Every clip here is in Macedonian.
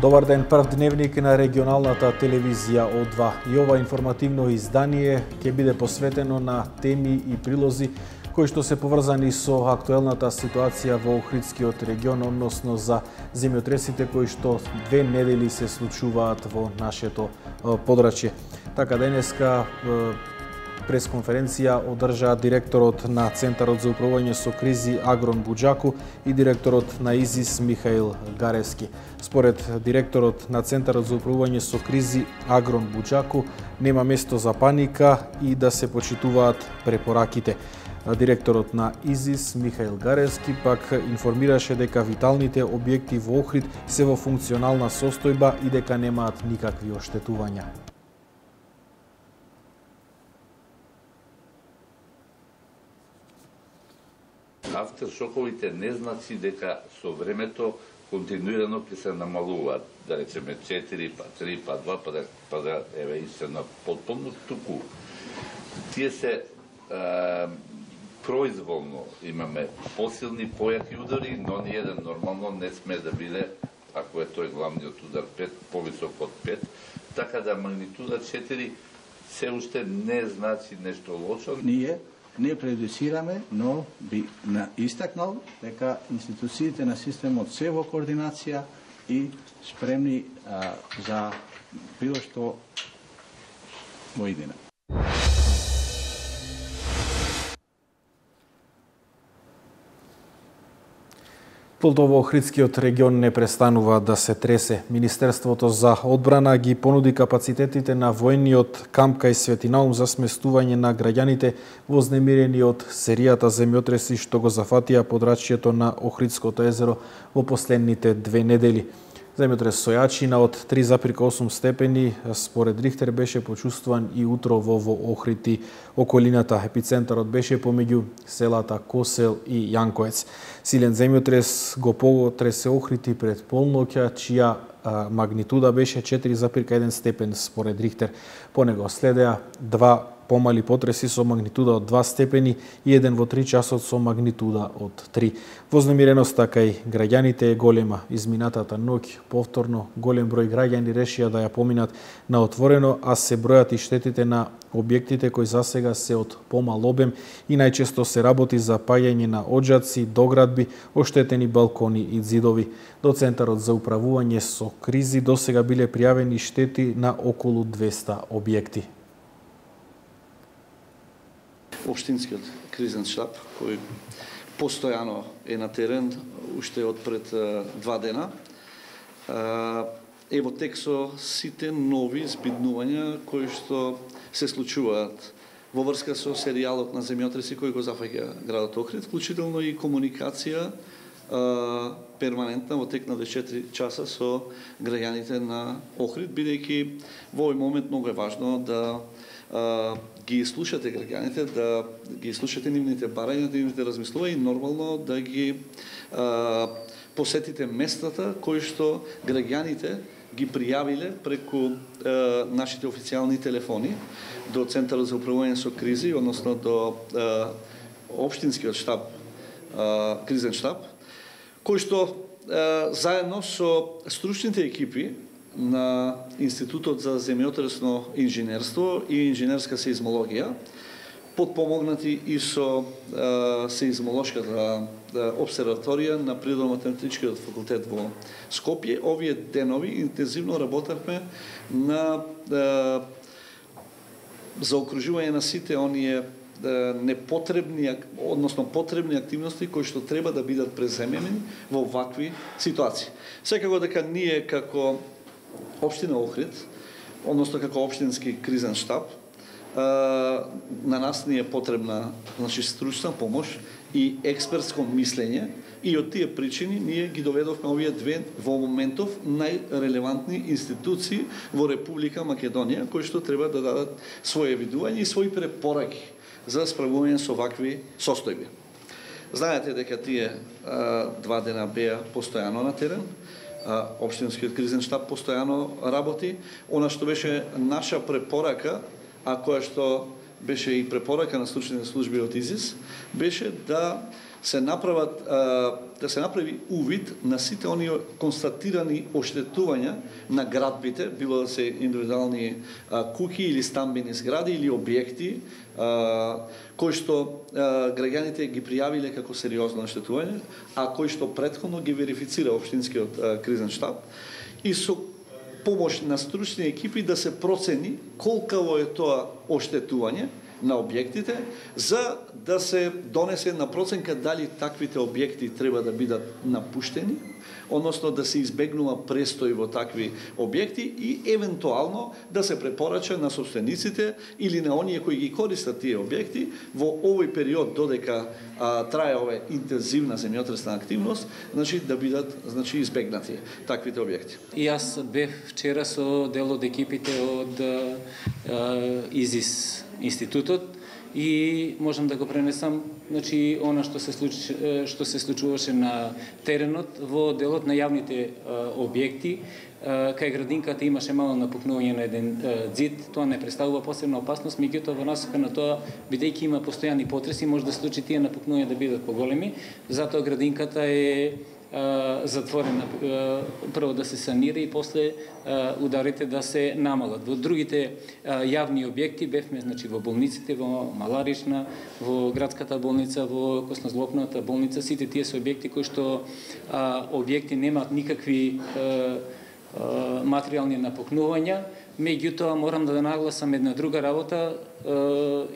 Добар ден, прв дневник на регионалната телевизија О2. И ова информативно издание ќе биде посветено на теми и прилози кои што се поврзани со актуелната ситуација во Охридскиот регион, односно за земјотресите кои што 2 недели се случуваат во нашето подрачје. Така денеска пресконференција одржа директорот на Центарот за управување со кризи Агрон Буџаку и директорот на ИЗИС Михаил Гаревски. Според директорот на Центарот за управување со кризи Агрон Буџаку нема место за паника и да се почитуваат препораките. Директорот на ИЗИС Михаил Гаревски пак информираше дека виталните објекти во Охрид се во функционална состојба и дека немаат никакви оштетувања. Автершоковите не значи дека со времето континуирано ќе се намалуваат, да речеме 4, па 3, па 2, па да еве и се на потполно, туку тие се произволно имаме посилни, појаки удари, но ни еден нормално не сме да биде, ако е тој главниот удар 5, повисок од 5, така да магнитуда 4 се уште не значи нешто лошо. Ние не предуцираме, но би истакнал дека институциите на системот се во координација и спремни за било што во иднина. Полто во Охридскиот регион не престанува да се тресе. Министерството за одбрана ги понуди капацитетите на воениот камп кај Свети Наум за сместување на граѓаните вознемирени од серијата земјотреси што го зафатија подрачјето на Охридското езеро во последните 2 недели. Земјотрес со јачина од 3,8 степени според Рихтер беше почувствуван и утрово во Охрид и околината. Епицентарот беше помеѓу селата Косел и Јанковец. Силен земјотрес го потресе Охрид и пред полноќа, чија магнитуда беше 4,1 степен според Рихтер. По него следеа 2 помали потреси со магнитуда од 2 степени и еден во 3 часот со магнитуда од 3. Вознемиреноста кај граѓаните е голема. Изминатата ноќ повторно голем број граѓани решија да ја поминат на отворено, а се бројат и штетите на објектите кои засега се од помал обем и најчесто се работи за паѓање на оџаци, доградби, оштетени балкони и ѕидови. До Центарот за управување со кризи досега биле пријавени штети на околу 200 објекти. Општинскиот кризен штаб, кој постојано е на терен, уште од пред 2 дена, е во тек со сите нови збиднувања кои што се случуваат во врска со серијалот на земјотреси кој го зафаќа градот Охрид, вклучително и комуникација перманентна во тек на 24 часа со граѓаните на Охрид, бидејќи во овој момент многу е важно да ги слушате граѓаните, да ги слушате нивните барања, нивните размислувања и нормално да ги посетите местата кои што граѓаните ги пријавиле преку нашите официјални телефони до Центарот за управување со кризи, односно до општинскиот штаб, кризен штаб, кој што заедно со стручните екипи на Институтот за земјотресно инженерство и инженерска сеизмологија, подпомогнати и со сеизмолошката обсерваторија на Природно-математичкиот факултет во Скопје. Овие денови интензивно работевме на заокружување на сите оние непотребни, односно потребни активности кои што треба да бидат преземени во вакви ситуации. Секако дека ние како Општина Охрид, односно како општински кризен штаб, на нас ни е потребна стручна помош и експертско мислење и од тие причини ние ги доведовме овие 2 во моментов најрелевантни институции во Република Македонија кои што треба да дадат своје видување и своји препораки за справување со вакви состојби. Знаете дека тие 2 дена беа постојано на терен, Општинскиот кризен штаб постојано работи. Она што беше наша препорака, а која што беше и препорака на стручните служби од ИЗИС, беше да да се направи увид на сите оние констатирани оштетувања на градбите, било да се индивидуални куќи или стамбени згради или објекти, кои што граѓаните ги пријавиле како сериозно оштетување, а кои што претходно ги верифицира општинскиот кризен штаб, и со помош на стручни екипи да се процени колкаво е тоа оштетување на објектите, за да се донесе на проценка дали таквите објекти треба да бидат напуштени, односно да се избегнува престој во такви објекти и евентуално да се препорача на собствениците или на оние кои ги користат тие објекти во овој период додека трае ова интензивна земјотресна активност, значи да бидат избегнати таквите објекти. И јас бев вчера со дел од екипите од ИЗИС институтот и можам да го пренесам, значи она што се случуваше на теренот во делот на јавните објекти. Кај градинката имаше мало напукнување на еден ѕид, тоа не представува посебна опасност, меѓутоа во насока на тоа, бидејќи има постојани потреси, може да случи тие напукнувања да бидат поголеми, затоа градинката е затворена, прво да се санира и после ударите да се намалат. Во другите јавни објекти бевме, значи во болниците, во Маларична, во градската болница, во Коснозлопната болница, сите тие се објекти кои што објекти немаат никакви материјални напукнувања, меѓутоа морам да нагласам една друга работа.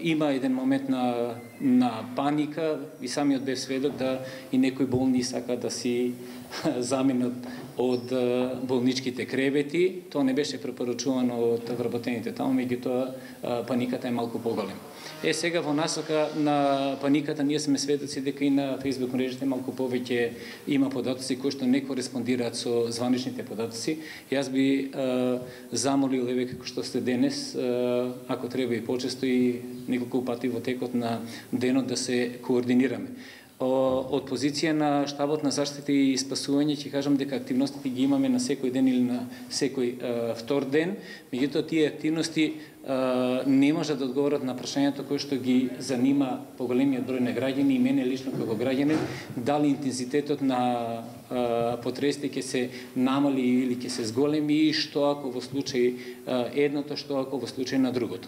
Има еден момент на паника и самиот бев сведок да и некои болни сака да си заменат од болничките кревети. Тоа не беше препорачувано од вработените таму, меѓутоа паниката е малку поголема. Сега во насока на паниката ние сме сведоци дека и на Facebook мрежите малку повеќе има податоци кои што не кореспондираат со званичните податоци. Јас би замолил, еве како што сте денес, ако треба и почесто и неколку пати во текот на денот да се координираме. Од позиција на штабот на заштита и спасување ќе кажам дека активностите ги имаме на секој ден или на секој втор ден, меѓутоа тие активности не можат да одговорат на прашањето кое што ги занима поголемиот број на граѓани и мене лично како граѓанин, дали интензитетот на потресите ќе се намали или ќе се зголеми и што ако во случај едното, што ако во случај на другото.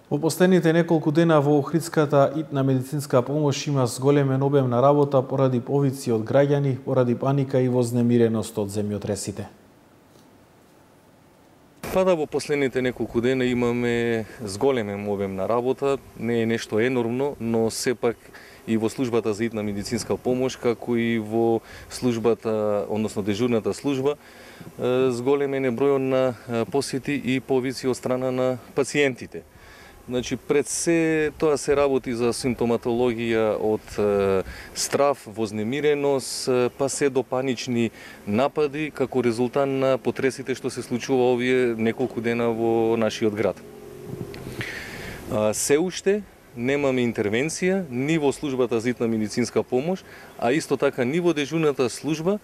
Во последните неколку дена во Охридската итна медицинска помош има зголемен обем на работа поради повици од граѓани, поради паника и вознемиреност од земјотресите. Да, во последните неколку дена имаме зголемен обем на работа, не е нешто енормно, но сепак и во службата за итна медицинска помош, како и во службата, односно дежурната служба, зголемен е бројот на посети и повици од страна на пациентите. Значи, пред се тоа се работи за симптоматологија од страв, вознемиреност, па се до панични напади како резултат на потресите што се случува овие неколку дена во нашиот град. Се уште немаме интервенција ни во службата за итна медицинска помош, а исто така ни во дежурната служба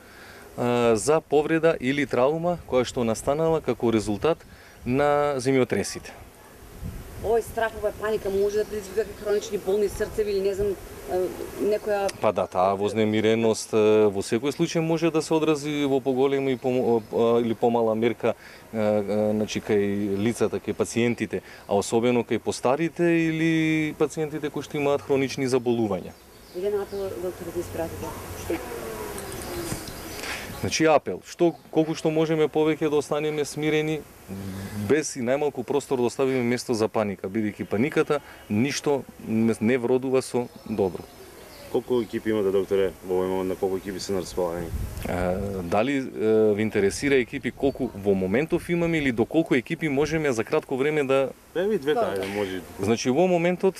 за повреда или траума која што настанала како резултат на земјотресите. Овој страх, оваа паника може да предизвика хронични болни срцеви или не знам некоја... Па да, таа вознемиреност во секој случај може да се одрази во поголема или помала мерка, значи кај лицата, кај пациентите, а особено кај постарите или пациентите кои што имаат хронични заболувања. Еден апел, доктор, да испратите. Значи апел, колку што можеме повеќе да останеме смирени, без и најмалку простор да оставиме место за паника, бидејќи паниката ништо не вродува со добро. Колку екипи имате, докторе, во овој момент, на колку екипи се на располагање? Дали ви интересира екипи колку во моментов имаме или до колку екипи можеме за кратко време да... Ви двете, ајде, може. Значи во моментот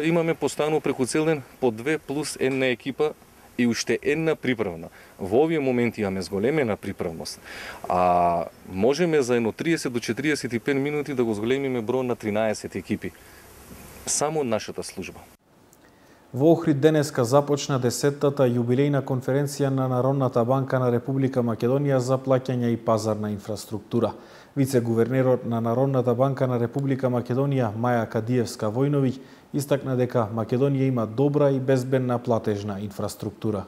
имаме постојано преку цел ден по 2 плюс 1 екипа и уште една приправна. Во овие моменти имаме зголемена приправност, а можеме за едно 30 до 45 минути да го зголемиме број на 13 екипи. Само нашата служба. Во Охрид денеска започна 10-тата јубилејна конференција на Народната банка на Република Македонија за плаќање и пазарна инфраструктура. Вице-гувернерот на Народната банка на Република Македонија Маја Кадиевска-Војновиќ истакна дека Македонија има добра и безбедна платежна инфраструктура.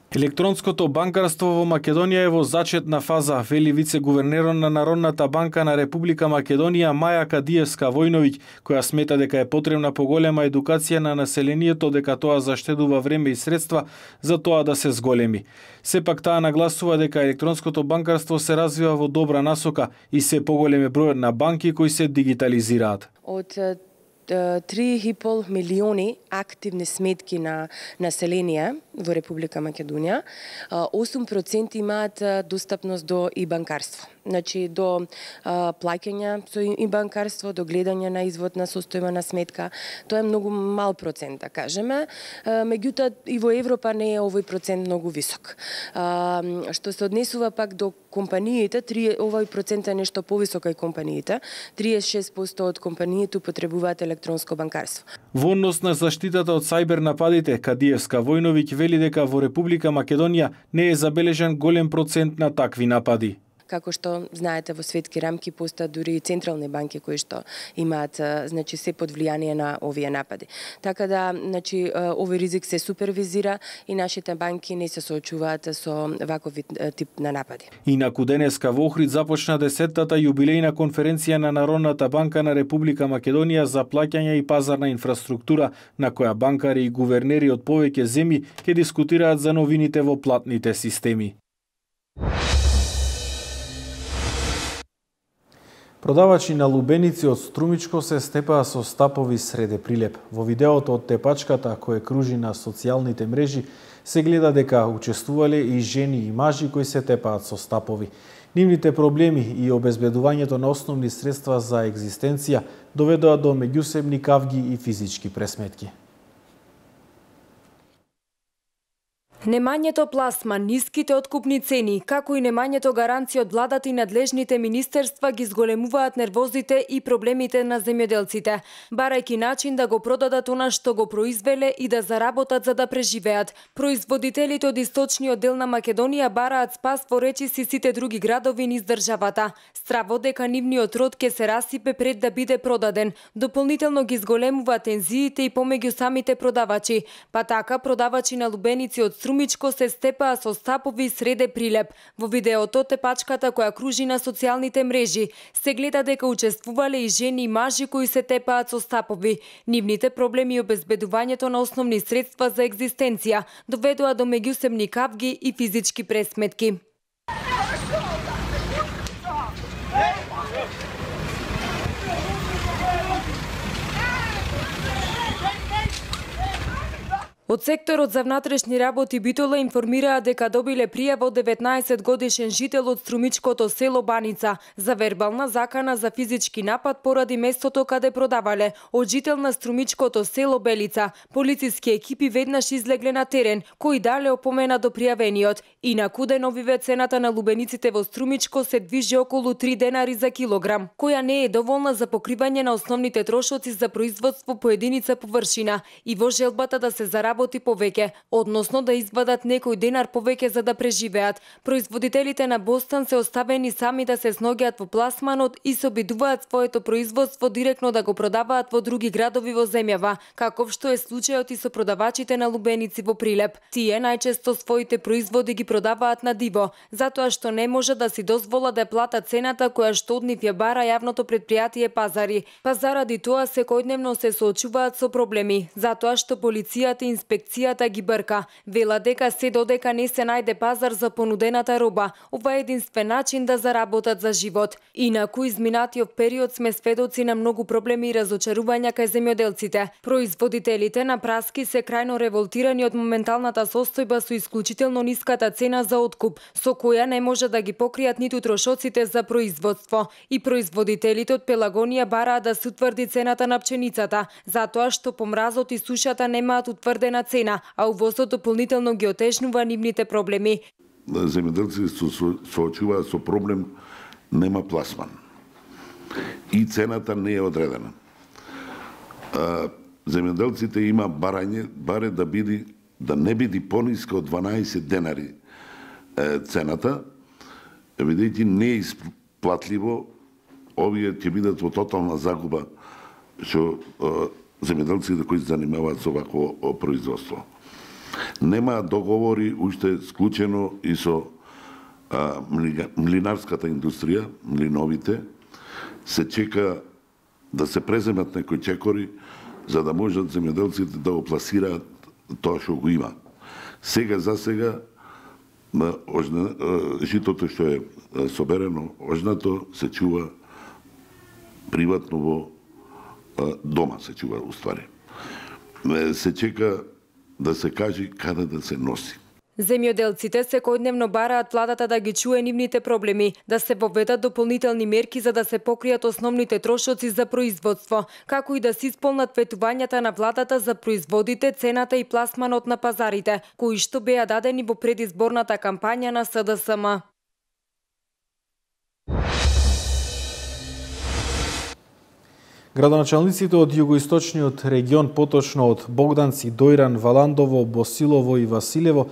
Електронското банкарство во Македонија е во зачетна фаза, вели вице-гувернерот на Народната банка на Република Македонија Маја Кадиевска-Војновиќ, која смета дека е потребна поголема едукација на населението, дека тоа заштедува време и средства за тоа да се зголеми. Сепак таа нагласува дека електронското банкарство се развива во добра насока и се поголем е бројот на банки кои се дигитализираат. Од 3,5 милиони активни сметки на население во Република Македонија, 8% имаат достапност до и банкарство. Значи до плаќања со и банкарство, до гледање на извод на состојба на сметка. Тоа е многу мал процент, да кажеме. Меѓутоа и во Европа не е овој процент многу висок. Што се однесува пак до компаниите, овој процент е нешто повисок кај компаниите. 36% од компаниите употребуваат електронско банкарство. Во однос на заштитата од сајбер нападите, Кадиевска-Војновиќ вели дека во Република Македонија не е забележан голем процент на такви напади. Како што знаете, во светски рамки постојат дури и централни банки кои што имаат, значи, се под влијание на овие напади. Така да, значи, овој ризик се супервизира и нашите банки не се соочуваат со ваков тип на напади. Инаку денеска во Охрид започна 10-тата јубилејна конференција на Народната банка на Република Македонија за плаќање и пазарна инфраструктура, на која банкари и гувернери од повеќе земји ќе дискутираат за новините во платните системи. Продавачи на лубеници од Струмичко се степаа со стапови среде Прилеп. Во видеото од тепачката кој кружи на социјалните мрежи се гледа дека учествувале и жени и мажи кои се тепаат со стапови. Нивните проблеми и обезбедувањето на основни средства за екзистенција доведоа до меѓусебни кавги и физички пресметки. Немањето пласман, ниските откупни цени, како и немањето гаранција од владата и надлежните министерства ги зголемуваат нервозите и проблемите на земјоделците, барајќи начин да го продадат она што го произвеле и да заработат за да преживеат. Производителите од источниот дел на Македонија бараат спас во речиси сите други градови низ државата. Страво дека нивниот род ќе се расипе пред да биде продаден. Дополнително ги зголемува тензиите и помеѓу самите продавачи. Па така продавачи на лубеници од Струмичко се степаа со стапови среде Прилеп. Во видеото тепачката која кружи на социјалните мрежи се гледа дека учествувале и жени и мажи кои се тепаат со стапови. Нивните проблеми и обезбедувањето на основни средства за екзистенција доведоа до меѓусебни кавги и физички пресметки. Од секторот за внатрешни работи Битола информираа дека добиле пријава од 19 годишен жител од Струмичкото село Баница за вербална закана за физички напад поради местото каде продавале. Од жител на Струмичкото село Белица, полициски екипи веднаш излегле на терен, кои дале опомена до пријавениот. Инаку деновиве цената на лубениците во Струмичко се движи околу 3 денари за килограм, која не е доволна за покривање на основните трошоци за производство по единица површина и во желбата да се заработи повеќе, односно да извадат некој денар повеќе за да преживеат. Производителите на Бостан се оставени сами да се сногиат во пласманот и се обидуваат своето производство директно да го продаваат во други градови во земјава, каков што е случајот и со продавачите на лубеници во Прилеп. Тие најчесто своите производи ги продаваат на диво, затоа што не може да си дозвола да платат цената која што од нив ја бара јавното претпријатие Пазари. Па заради тоа секојдневно се соочуваат со проблеми, затоа што полицијата и инспекцијата ги брка. Вела дека се додека не се најде пазар за понудената роба, ова е единствен начин да заработат за живот. Инаку изминатиот период сме сведоци на многу проблеми и разочарувања кај земјоделците. Производителите на праски се крајно револтирани од моменталната состојба со исклучително ниската цена за откуп, со која не може да ги покријат ниту трошоците за производство. И производителите од Пелагонија бараат да се утврди цената на пченицата, затоа што помразот и сушата немаат утврдена цена, а увозот дополнително ги отежнува нивните проблеми. Земјоделците се соочуваат со проблем нема пласман и цената не е одредена. Земјоделците има баре да не биде пониска од 12 денари цената бидејќи не е исплатливо, овие ќе бидат во тотална загуба што земјоделците кои се занимаваат со вакво производство. Нема договори уште склучено и со млинарската индустрија, млиновите. Се чека да се преземат некои чекори за да можат земјоделците да го пласираат тоа што го има. Сега за сега житото што е соберено, ожнато се чува приватно во дома се чува уствари. Се чека да се каже каде да се носи. Земјоделците секојдневно бараат владата да ги чуе нивните проблеми, да се воведат дополнителни мерки за да се покријат основните трошоци за производство, како и да се исполнат ветувањата на владата за производите, цената и пласманот на пазарите, кои што беа дадени во предизборната кампања на СДСМ. Градоначалниците од југоисточниот регион, поточно од Богданци, Дојран, Валандово, Босилово и Василево,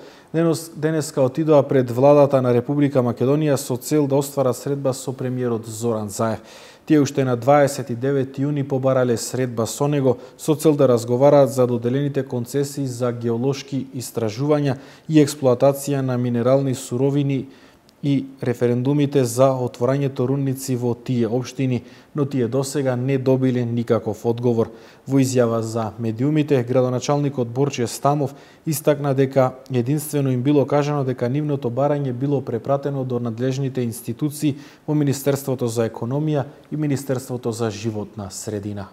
денеска отидоа пред владата на Република Македонија со цел да остварат средба со премиерот Зоран Заев. Тие уште на 29 јуни побарале средба со него со цел да разговараат за доделените концесии за геолошки истражувања и експлоатација на минерални суровини и референдумите за отворањето рудници во тие општини, но тие досега не добиле никаков одговор. Во изјава за медиумите, градоначалникот Борче Стамов истакна дека единствено им било кажано дека нивното барање било препратено до надлежните институции во Министерството за економија и Министерството за животна средина.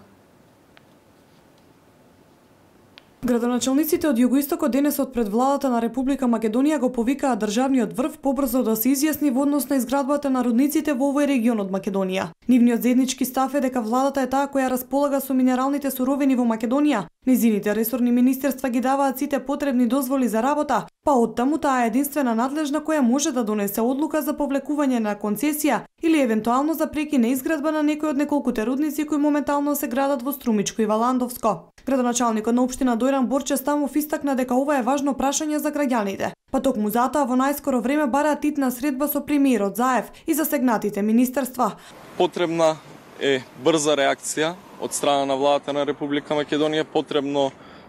Градоначалниците од Југоистокот денесот пред владата на Република Македонија го повикаа државниот врв побрзо да се изјасни во однос на изградбата на рудниците во овој регион од Македонија. Нивниот заеднички став е дека владата е таа која располага со минералните суровини во Македонија. Низините ресорни министерства ги даваат сите потребни дозволи за работа, па оттаму таа е единствена надлежна која може да донесе одлука за повлекување на концесија или евентуално за прекина изградба на некој од неколкуте рудници кои моментално се градат во Струмичко и Валандовско. Градоначалникот на општина Дојран Борче Стамов истакна дека ова е важно прашање за граѓаните. Па токму затоа во најскоро време бараат итна средба со премиерот Заев и засегнатите министерства. Потребна е брза реакција од страна на владата на Република Македонија.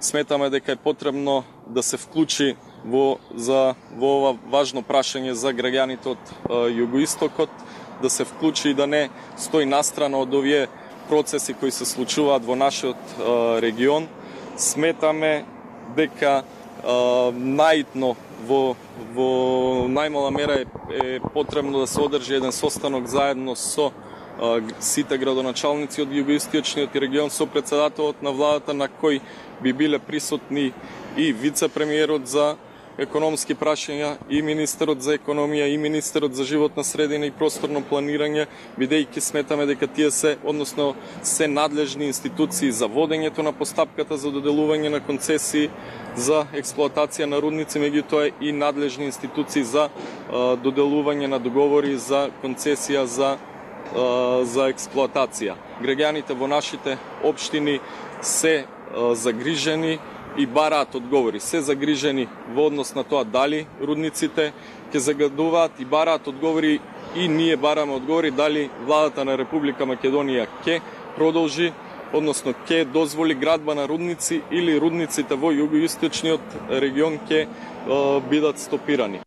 Сметаме дека е потребно да се вклучи во ова важно прашање за граѓаните од Југоистокот, да се вклучи и да не стои настрана од овие процеси кои се случуваат во нашиот регион. Сметаме дека наитно во најмала мера е потребно да се одржи еден состанок заедно со сите градоначалници од Југоисточниот регион, со претседателот на владата, на кој би биле присутни и вице-премиерот за економски прашања, и министерот за економија, и министерот за животна средина и просторно планирање, бидејќи сметаме дека тие се надлежни институции за водењето на постапката за доделување на концесии за експлоатација на рудници, меѓутоа и надлежни институции за доделување на договори за концесија за експлоатација. Граѓаните во нашите општини се загрижени и бараат одговори. Се загрижени во однос на тоа дали рудниците ќе загадуваат, и бараат одговори, и ние бараме одговори дали владата на Република Македонија ќе продолжи, односно ќе дозволи градба на рудници, или рудниците во југоисточниот регион ќе бидат стопирани.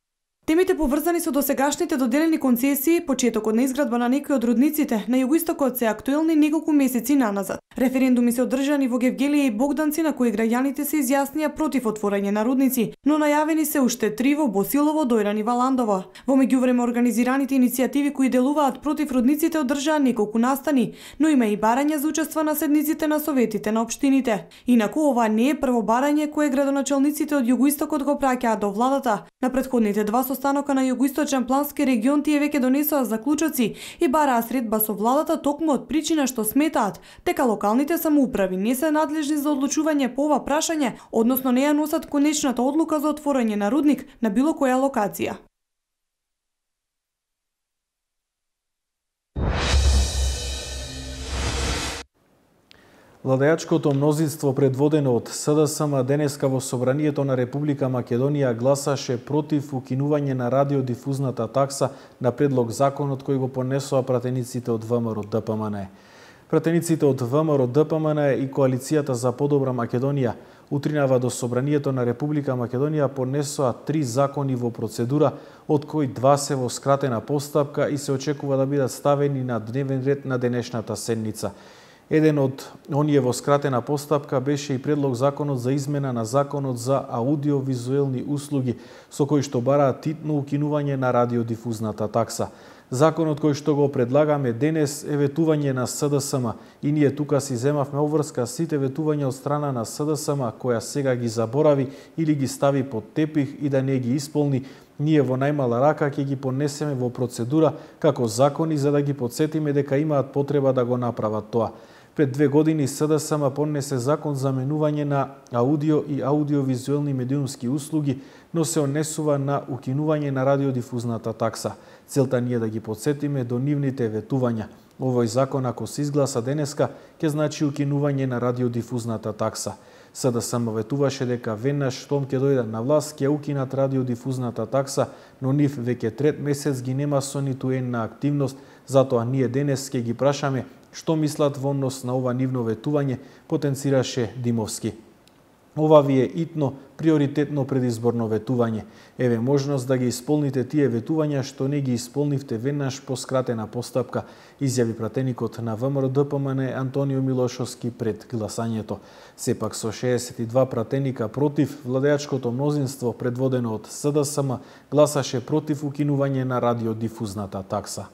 Темите поврзани со досегашните доделени концесии, почетокот на изградба на некои од рудниците на Југоистокот се актуелни неколку месеци наназад. Референдуми се одржани во Гевгелија и Богданци, на кои граѓаните се изјаснија против отворање на рудници, но најавени се уште 3 во Босилово, Дојран и Валандово. Во меѓувреме организираните иницијативи кои делуваат против рудниците одржаа неколку настани, но има и барања за учество на седниците на советите на општините. Инаку ова не е прво барање кое градоначалниците од Југоистокот го праќаат до владата. На претходните два состанока на Југоисточен плански регион тие веќе донесоа заклучоци и бараа средба со владата токму од причина што сметаат дека локалните самоуправи не се надлежни за одлучување по ова прашање, односно не ја носат конечната одлука за отворање на рудник на било која локација. Владеачкото мнозинство предводено од СДСМ денеска во Собранието на Република Македонија гласаше против укинување на радиодифузната такса на предлог законот кој го понесоа пратениците од ВМРО ДПМН. Пратениците од ВМРО ДПМН и Коалицијата за подобра Македонија утринава до Собранието на Република Македонија понесоа 3 закони во процедура, од кои 2 се во скратена постапка и се очекува да бидат ставени на дневен ред на денешната седница. Еден од оние во скратена постапка беше и предлог законот за измена на законот за аудиовизуелни услуги, со кој што бараат титно укинување на радиодифузната такса. Законот кој што го предлагаме денес е ветување на СДСМ и ние тука си земавме обврска сите ветувања од страна на СДСМ која сега ги заборави или ги стави под тепих и да не ги исполни. Ние во најмала рака ќе ги понесеме во процедура како закони за да ги подсетиме дека имаат потреба да го направат тоа. Пред 2 години СДСМ понесе закон за менување на аудио и аудиовизуелни медиумски услуги, но се однесува на укинување на радиодифузната такса. Целта ни е да ги подсетиме до нивните ветувања. Овој закон, ако се изгласа денеска, ќе значи укинување на радиодифузната такса. СДСМ ветуваше дека веднаш штом ќе дојдат на власт ќе укинат радиодифузната такса, но нив веќе 3 месец ги нема со ниту една активност, затоа ние денес ќе ги прашаме што мислат во однос на ова нивно ветување, потенцираше Димовски. Ова ви е итно, приоритетно предизборно ветување. Еве можност да ги исполните тие ветувања што не ги исполнивте веднаш по скратена постапка, изјави пратеникот на ВМРО ДПМН Антонио Милошовски пред гласањето. Сепак со 62 пратеника против, владеачкото мнозинство предводено од СДСМ гласаше против укинување на радиодифузната такса.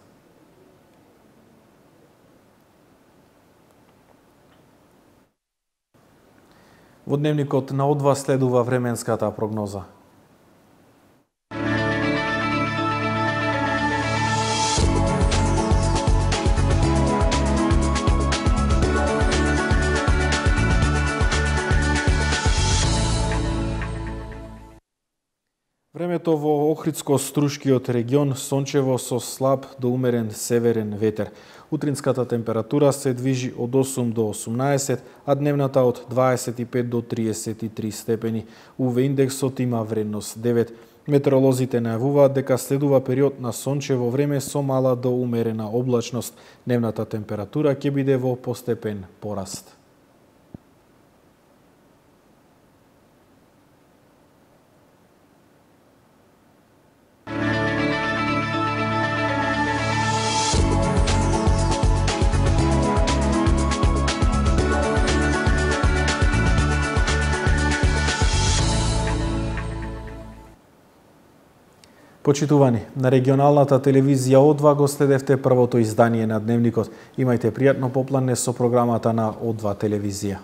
Во дневникот на О2 следува временската прогноза. Времето во Охридско-Струшкиот регион сончево со слаб до умерен северен ветер. Утринската температура се движи од 8 до 18, а дневната од 25 до 33 степени. УВ индексот има вредност 9. Метеоролозите најавуваат дека следува период на сончево време со мала до умерена облачност. Дневната температура ќе биде во постепен пораст. Почитувани, на регионалната телевизија О2 го следевте првото издание на Дневникот. Имајте пријатно попладне со програмата на О2 телевизија.